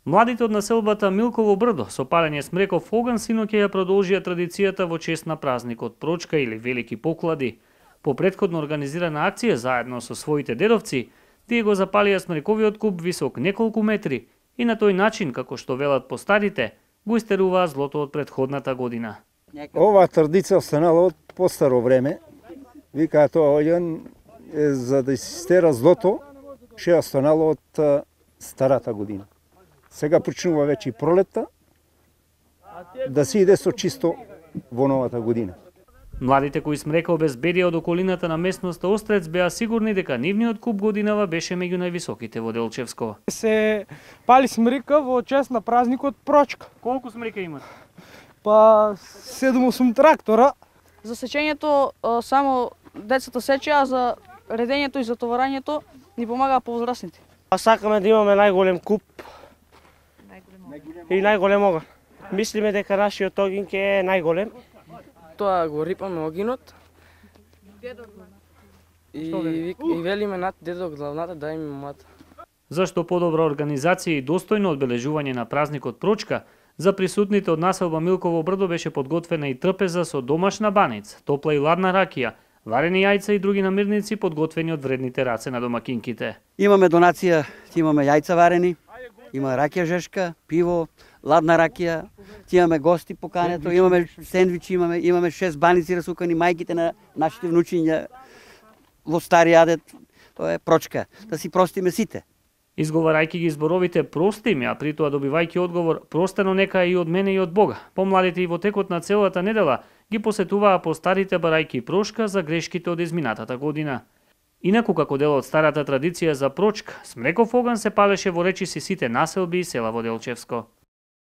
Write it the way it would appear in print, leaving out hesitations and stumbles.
Младите од населбата Милково брдо со палење смреков оган синоќа ја продолжија традицијата во чест на празникот Прочка или Велики поклади. По претходно организирана акција заедно со своите дедовци, тие го запалија смрековиот куп висок неколку метри и на тој начин, како што велат постарите, го истеруваа злото од претходната година. Оваа традиција останала од постаро време. Вика тоа оган за да истера злото, ше останало од старата година. Сега почнува веќе и пролетта, да се иде со чисто во новата година. Младите кои смрека обезбедија од околината на местноста Острец беа сигурни дека нивниот куп годинава беше меѓу највисоките во Делчевско. Се пали смрека во чест на празникот Прочка. Колку смрека имат? Па 7-8 трактора. За сечењето само децата сечеа, за редењето и затоварањето ни помагаа повозрасните. Сакаме да имаме најголем куп и најголем оган. Мислиме дека нашиот огин ќе е најголем. Тоа го рипаме огинот и велиме над дедок главната да им мата. Зашто подобра организација и достојно одбележување на празникот Прочка, за присутните од населба Милково брдо беше подготвена и трпеза со домашна баница, топла и ладна ракија, варени јајца и други намирници подготвени од вредните раце на домакинките. Имаме донација, имаме јајца варени, има ракија жешка, пиво, ладна ракија, имаме гости покането, имаме сендвичи, имаме 6 баници расукани, мајките на нашите внучиња во стари јадет. Тоа е Прочка, да си простиме сите. Изговарајќи ги зборовите прости ми, а при тоа добивајќи одговор простено нека и од мене и од Бога. Помладите и во текот на целата недела ги посетуваа постарите барајќи прошка за грешките од изминатата година. Инаку како дел од старата традиција за Прочка, смреков оган се палеше во речиси сите населби и села во Делчевско.